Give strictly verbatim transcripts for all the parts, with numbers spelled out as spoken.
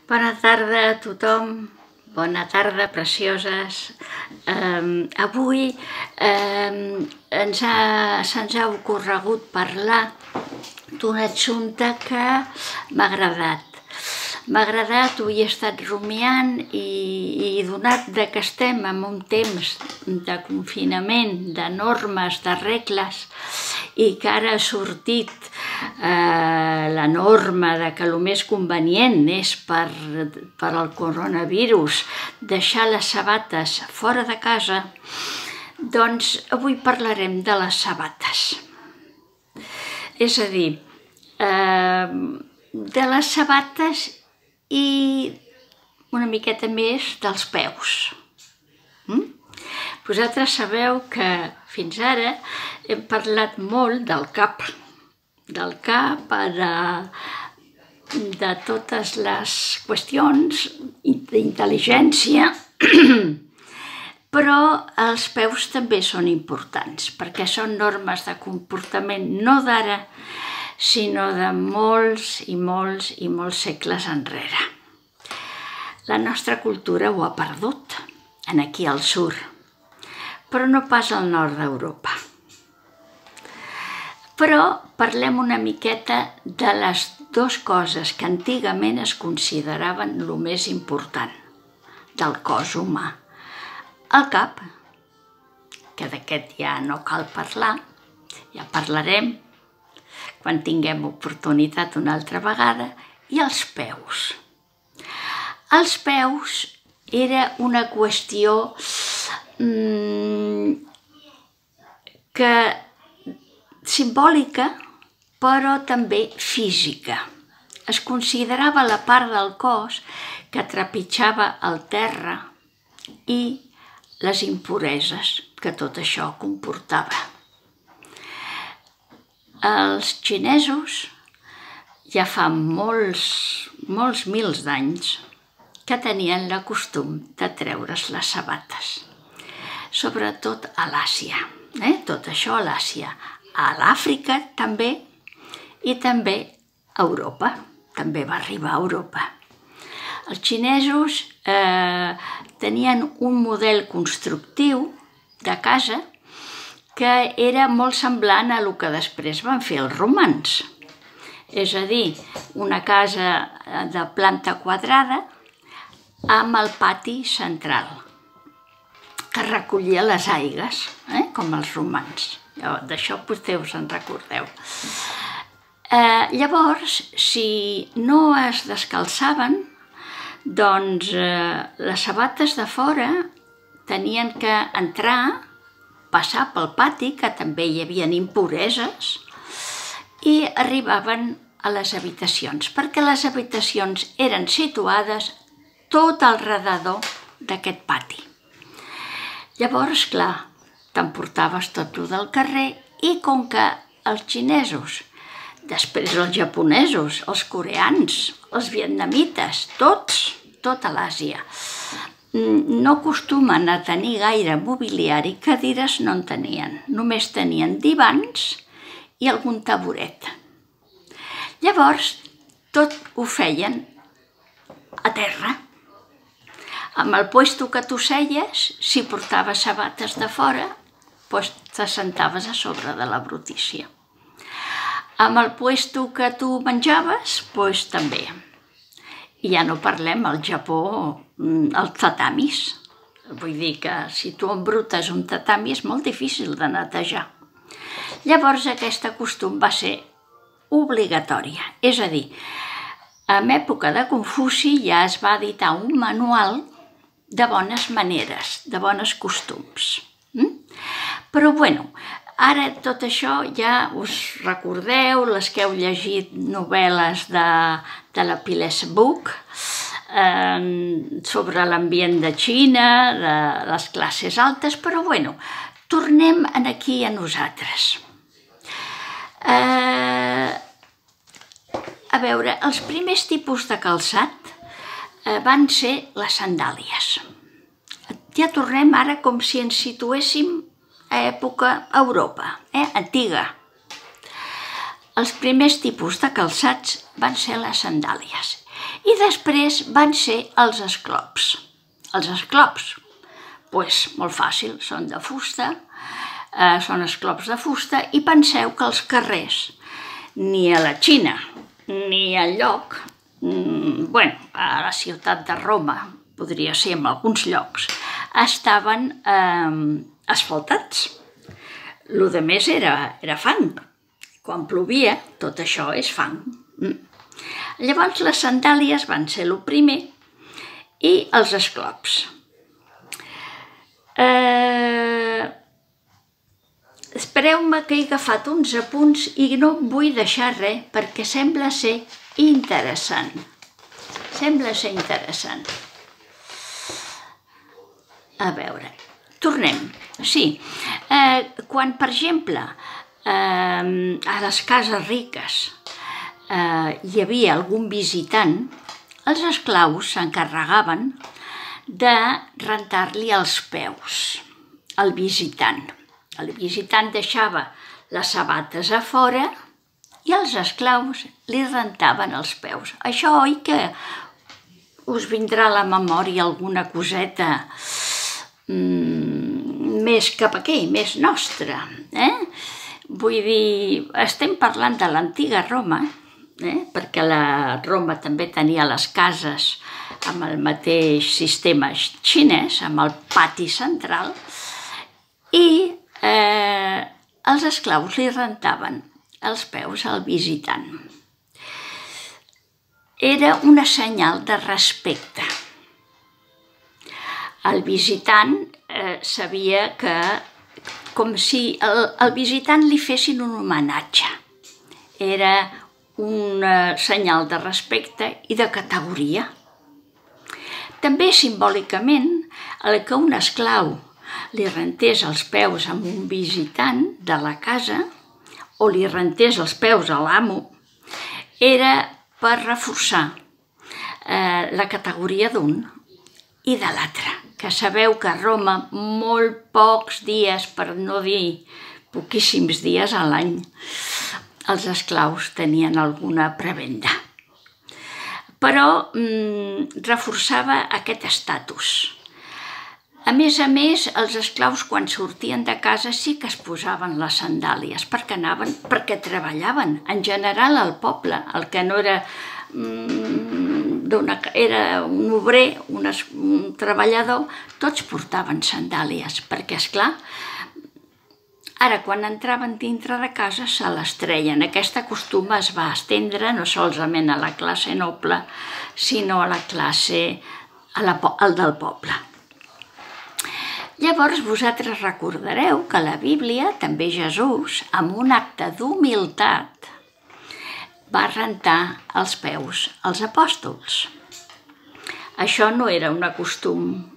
Bona tarda a tothom, bona tarda, precioses. Eh, avui eh, ens ha, se'ns ha ocorregut parlar d'un assumpte que m'ha agradat. M'ha agradat, ho he estat rumiant i, i donat de que estem en un temps de confinament, de normes, de regles, i que ara ha sortit eh, la norma de que el més convenient és per, per al coronavirus deixar les sabates fora de casa, doncs avui parlarem de les sabates. És a dir, eh, de les sabates i una miqueta més dels peus. Mm? Vosaltres sabeu que fins ara hem parlat molt del cap, del cap, de, de totes les qüestions d'intel·ligència, però els peus també són importants, perquè són normes de comportament no d'ara, sinó de molts i molts i molts segles enrere. La nostra cultura ho ha perdut, aquí al sud, però no pas al nord d'Europa. Però parlem una miqueta de les dues coses que antigament es consideraven el més important del cos humà. El cap, que d'aquest ja no cal parlar, ja parlarem quan tinguem oportunitat una altra vegada, i els peus. Els peus era una qüestió mmm, que simbòlica, però també física. Es considerava la part del cos que trepitjava el terra i les impureses que tot això comportava. Els xinesos, ja fa molts, molts mils d'anys, que tenien la costum de treure's les sabates, sobretot a l'Àsia, eh? Tot això a l'Àsia, a l'Àfrica també, i també a Europa, també va arribar a Europa. Els xinesos eh, tenien un model constructiu de casa que era molt semblant a el que després van fer els romans. És a dir, una casa de planta quadrada amb el pati central, que recollia les aigües, eh? Com els romans. D'això potser us en recordeu. Eh, llavors, si no es descalçaven, doncs eh, les sabates de fora tenien que entrar, passar pel pati, que també hi havia impureses, i arribaven a les habitacions, perquè les habitacions eren situades tot al redador d'aquest pati. Llavors, clar, t'emportaves tot el del carrer, i com que els xinesos, després els japonesos, els coreans, els vietnamites, tots, tota l'Àsia, no acostumen a tenir gaire mobiliari, cadires no en tenien, només tenien divans i algun taburet. Llavors, tot ho feien a terra. Amb el puesto que tu seies, si portaves sabates de fora, doncs t'assentaves a sobre de la brutícia. Amb el puesto que tu menjaves, doncs també. I ja no parlem al Japó, els tatamis. Vull dir que si tu embrutes un tatami és molt difícil de netejar. Llavors aquesta costum va ser obligatòria. És a dir, en època de Confuci ja es va editar un manual de bones maneres, de bones costums. Però bueno, ara tot això ja us recordeu, les que heu llegit novel·les de, de la Piles Buch, eh, sobre l'ambient de Xina, de les classes altes, però bueno, tornem aquí a nosaltres. Eh, a veure, els primers tipus de calçat eh, van ser les sandàlies. Ja tornem ara com si ens situéssim a època Europa, eh? Antiga. Els primers tipus de calçats van ser les sandàlies. I després van ser els esclops. Els esclops, doncs molt fàcil, són de fusta, eh, són esclops de fusta, i penseu que els carrers, ni a la Xina, ni enlloc, mm, bueno, a la ciutat de Roma, podria ser en alguns llocs, estaven eh, asfaltats. Lo de més era, era fang. Quan plovia, tot això és fang. Mm. Llavors les sandàlies van ser el primer i els esclops. Eh... Espereu-me que he agafat uns apunts i no vull deixar res perquè sembla ser interessant. Sembla ser interessant. A veure, tornem. Sí, eh, quan, per exemple, eh, a les cases riques eh, hi havia algun visitant, els esclaus s'encarregaven de rentar-li els peus al visitant. El visitant deixava les sabates a fora i els esclaus li rentaven els peus. Això, oi que us vindrà a la memòria alguna coseta mm, més cap aquí, més nostra, eh? Vull dir, estem parlant de l'antiga Roma, eh? Perquè la Roma també tenia les cases amb el mateix sistema xinès, amb el pati central, i eh, els esclaus li rentaven els peus al visitant. Era una senyal de respecte. El visitant eh, sabia que, com si el, el visitant li fessin un homenatge. Era un eh, senyal de respecte i de categoria. També simbòlicament, el que un esclau li rentés els peus a un visitant de la casa o li rentés els peus a l'amo, era per reforçar eh, la categoria d'un i de l'altre. Que sabeu que a Roma molt pocs dies, per no dir poquíssims dies a l'any, els esclaus tenien alguna prebenda. Però mm, reforçava aquest estatus. A més a més, els esclaus quan sortien de casa sí que es posaven les sandàlies perquè anaven, perquè treballaven. En general al poble, el que no era, mm, era un obrer, un, es, un treballador, tots portaven sandàlies, perquè esclar, ara quan entraven dintre de casa se les treien. Aquest costum es va estendre no solament a la classe noble, sinó a la classe, a la, al del poble. Llavors vosaltres recordareu que a la Bíblia també Jesús, amb un acte d'humilitat, va rentar els peus als apòstols. Això no era un costum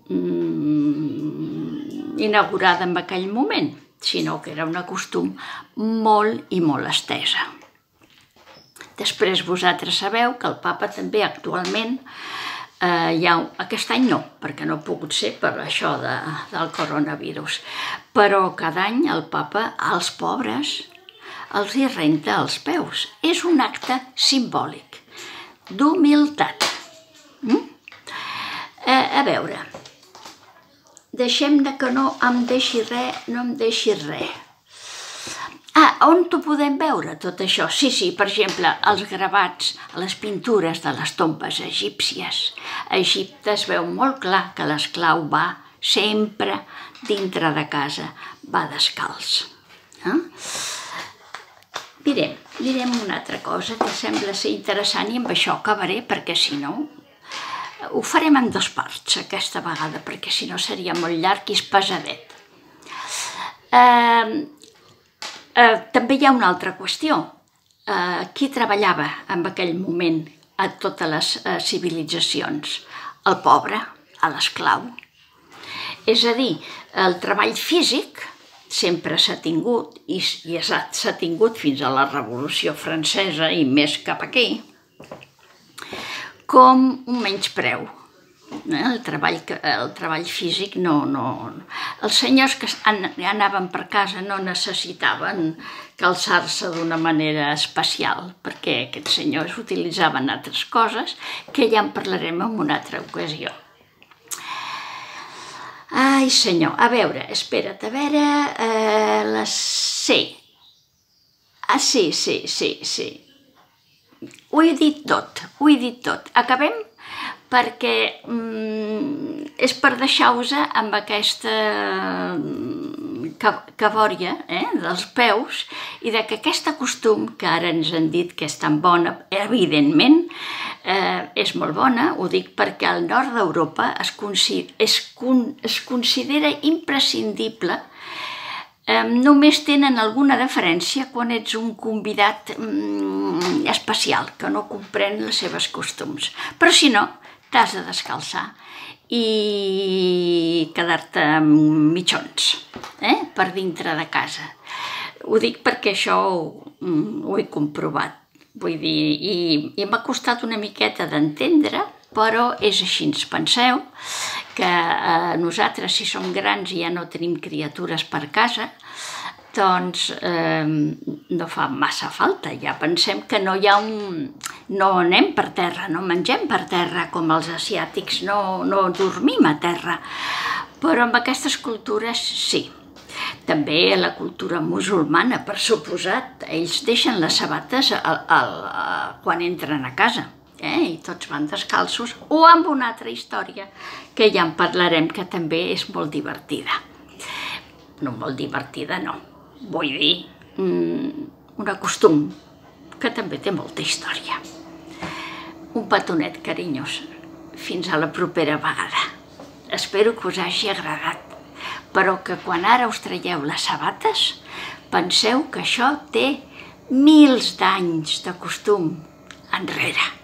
mm, inaugurat en aquell moment, sinó que era un costum molt i molt estesa. Després vosaltres sabeu que el papa també actualment Uh, ja, aquest any no, perquè no ha pogut ser per això de, del coronavirus, però cada any el papa als pobres els hi renta els peus. És un acte simbòlic d'humilitat. Mm? Uh, a veure, deixem-ne que no em deixi res, no em deixi res. Ah, on t'ho podem veure, tot això? Sí, sí, per exemple, els gravats, les pintures de les tombes egípcies. A Egipte es veu molt clar que l'esclau va sempre dintre de casa, va descalç. Eh? Mirem, mirem una altra cosa que sembla ser interessant i amb això acabaré, perquè si no, ho farem en dues parts aquesta vegada, perquè si no seria molt llarg i és pesadet. Eh... Uh, també hi ha una altra qüestió. Uh, qui treballava en aquell moment a totes les uh, civilitzacions? El pobre, l'esclau. És a dir, el treball físic sempre s'ha tingut, i, i s'ha tingut fins a la Revolució Francesa i més cap aquí, com un menyspreu. el treball, el treball físic no, no... Els senyors que anaven per casa no necessitaven calçar-se d'una manera especial, perquè aquests senyors utilitzaven altres coses, que ja en parlarem en una altra ocasió. Ai, senyor, a veure, espera't, a veure... Eh, les... Sí. Ah, sí, sí, sí, sí. Ho he dit tot, ho he dit tot. Acabem? Perquè mm, és per deixar-vos amb aquesta cabòria eh, dels peus i de que aquest costum, que ara ens han dit que és tan bona, evidentment, eh, és molt bona, ho dic perquè al nord d'Europa es, considera, es, con, es considera imprescindible. Eh, només tenen alguna diferència quan ets un convidat mm, especial, que no comprèn les seves costums. Però si no, t'has de descalçar i quedar-te amb mitjons eh, per dintre de casa. Ho dic perquè això ho, ho he comprovat. Vull dir, i, i m'ha costat una miqueta d'entendre, però és així. Ens penseu que eh, nosaltres, si som grans i ja no tenim criatures per casa, doncs eh, no fa massa falta. Ja pensem que no hi ha un... No anem per terra, no mengem per terra, com els asiàtics, no, no dormim a terra. Però amb aquestes cultures sí. També la cultura musulmana, per suposat. Ells deixen les sabates al, al, quan entren a casa. Eh? I tots van descalços, o amb una altra història, que ja en parlarem, que també és molt divertida. No molt divertida, no. Vull dir, un costum que també té molta història. Un petonet carinyós. Fins a la propera vegada. Espero que us hagi agradat, però que quan ara us traieu les sabates, penseu que això té mils d'anys de costum enrere.